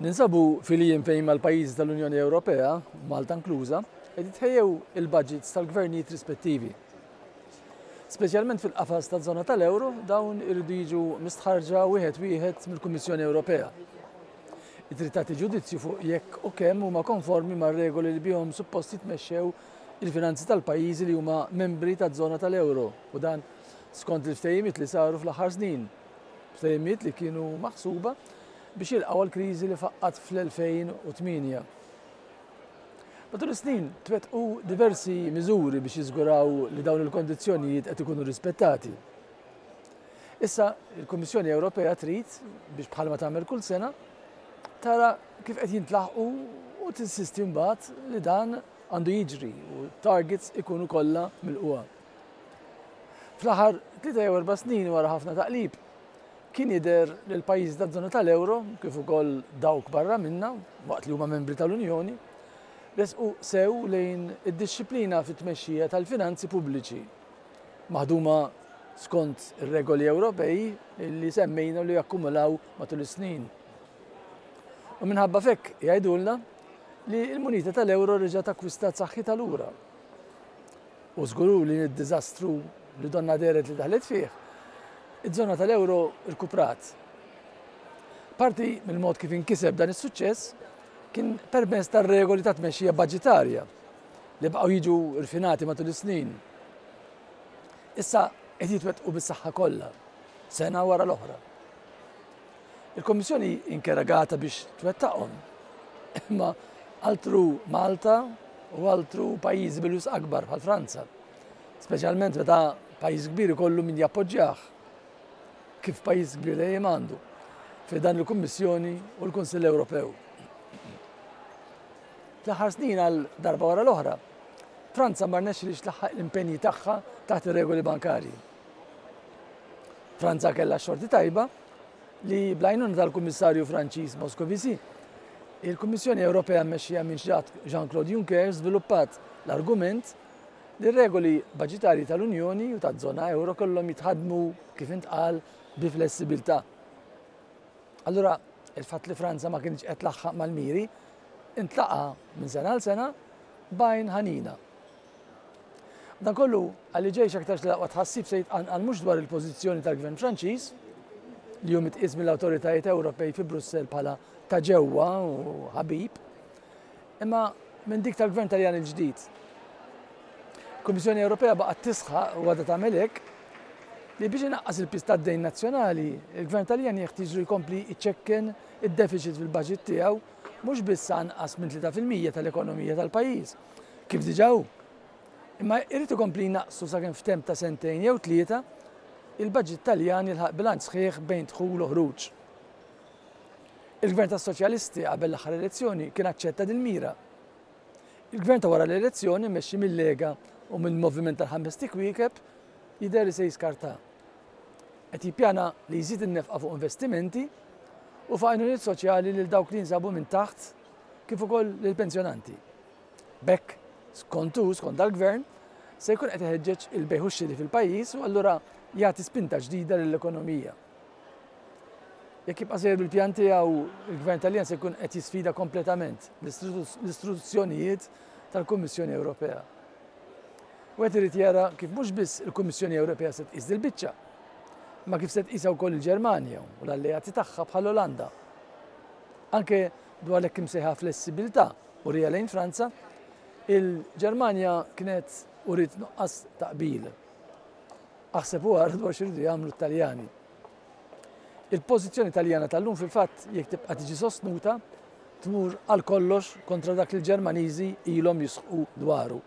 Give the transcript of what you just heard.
Ninsabu fil-jiem fejn mal-pajjiżi tal-Unjoni Ewropea, Malta inkluża, qed jitħejjew il-budgets tal-gvernijiet rispettivi. Speċjalment fil-qafas taż-żona tal-euro, dawn iridu jiġu mistħarrġa wieħed wieħed mill-Kummissjoni Ewropea. Trid tagħti ġudizzju fuq jekk u kemm huma konformi mar-regoli li bihom suppost jitmexxew il-finanzi tal-pajjiżi li huma membri taż-żona tal-euro u dan skont il-ftehimiet li saru fl-aħħar snin. Ftehimiet li kienu maħsuba biex jilqgħu għall-kriżi li faqqgħet fl-2008. Matul is-snin twettqu diversi miżuri biex jiżguraw li dawn il-kondizzjonijiet qed ikunu rispettati. Issa il-Kummissjoni Ewropea trid biex bħalma tagħmel kull sena tara kif qed jintlaħqu u tinsisti mbagħad li dan għandu jiġri u targets ikunu kollha milquha. Fl-aħħar 3 jew 4 snin wara ħafna taqlib kien jidher li l-pajjiżi taż-żona tal-euro kif ukoll dawk barra minna waqt li huma membri tal-Unjoni resqu sew lejn id-dixxiplina fit-tmexxija tal-finanzi pubbliċi maħduma skont ir-regoli Ewropej li semmejna li jakkumulaw matul is-snin. U minħabba f'hekk jgħidulna li l-munita tal-euro reġgħet akkwistat saħħitha lura. U żgur li d-diżastru li donna dehret li daħlet fih, iż-żona tal-euro rkuprat. Parti mill-mod kif inkiseb dan is-suċċess kien permezz tar-regoli ta' tmexxija budġetarja li baqgħu jiġu rfinati matul is-snin. Issa qed jitwettqu bis-saħħa kollha, sena wara l-oħra. Il-Kommissjoni inkarigata biex twettaqhom, imma altru Malta u altru pajjiżi bil-wisq akbar bħal Franza. Speċjalment meta pajjiż kbir ikollu min jappoġġjah, kif pajjiż kbir dejjem għandu, fi dan il-Kummissjoni u l-Kunsill Ewropew. Fl-aħħar snin għal darba wara l-oħra, Franza ma rnexxilhiex tlaħħaq l-impenji tagħha taħt ir-regoli bankarji. Franza kellha xorti tajba li bl-għajnuna tal-Kummissarju Franċiż Moscovici, il-Kummissjoni Ewropea mmexxija minn Jean-Claude Juncker żviluppat l-argument li regoli budġetarji tal-Unjoni u taż-żona euro kellhom jitħadmu kif intqal bi flessibilità. Allura, il-fatt li Franza ma kienx qed tlaħħaq mal-miri intlaqa minn sena għal sena b'għajn ħanina. Dan kollu għalli ġej aktarx li l-aqwa tħassib se jitqanqal mhux dwar il-pożizzjoni tal-Gvern Franċiż li hu mitqies mill-awtoritajiet Ewropej fi Brussell bħala ta' ġewwa u ħabib, imma minn dik tal-Gvern Taljan il-ġdid. Kummissjoni Ewropea baqgħet tisħaq u għadha tagħmel hekk li biex inaqqas il-piż tad-dejn nazzjonali, il-Gvern Taljan jeħtieġlu jkompli jċekken id-deficit fil-budget tiegħu mhux biss anqas minn 3% tal-ekonomija tal-pajjiż, kif diġà hu. Imma jrid ikompli jnaqqsu sakemm f'temp ta' sentejn jew tlieta il-budget Taljan jilħaq bilanċ sħiħ bejn dħul u ħruġ. Il-Gvern tas-Soċjalisti qabel l-aħħar elezzjoni kien aċċetta dil-mira. Il-Gvern ta' wara l-elezzjoni mmexxi mill-Lega u mill-Moviment tal-Ħames Kwiekeb jidher li se jiskarta. Qed jippjana li jżid in-nefqa fuq investimenti u fuq għajnuniet soċjali lil dawk li jinsabu minn taħt kif ukoll lil pensjonanti. B'hekk, skont hu, skont dal-gvern, se jkun qed iħeġġeġ il-bejgħ u x-xiri fil-pajjiż u allura jagħti spinta ġdida lill-ekonomija. Jekk jibqa' sejjer bil-pjan tiegħu, il-Gvern Taljan se jkun qed jisfida kompletament l-istruzzjonijiet tal-Kummissjoni Ewropea. Wieħed irid jara kif mhux biss il-Kummissjoni Ewropea se tqis dil-biċċa, imma kif se tqisha wkoll il-Ġermanja u l-alleati tagħha bħall-Olanda. Anke dwar l-hekk imsejħa flessibilità urija lejn Franza, il-Ġermanja kienet uriet nuqqas ta' qbil. Aħseb u ara dwar x'iridu jagħmlu t-Taljani. Il-pożizzjoni Taljana tal-lum fil-fatt jekk tibqa' tiġi sostnuta tmur għal kollox kontra dak li l-Ġermaniżi ilhom jisħqu dwaru.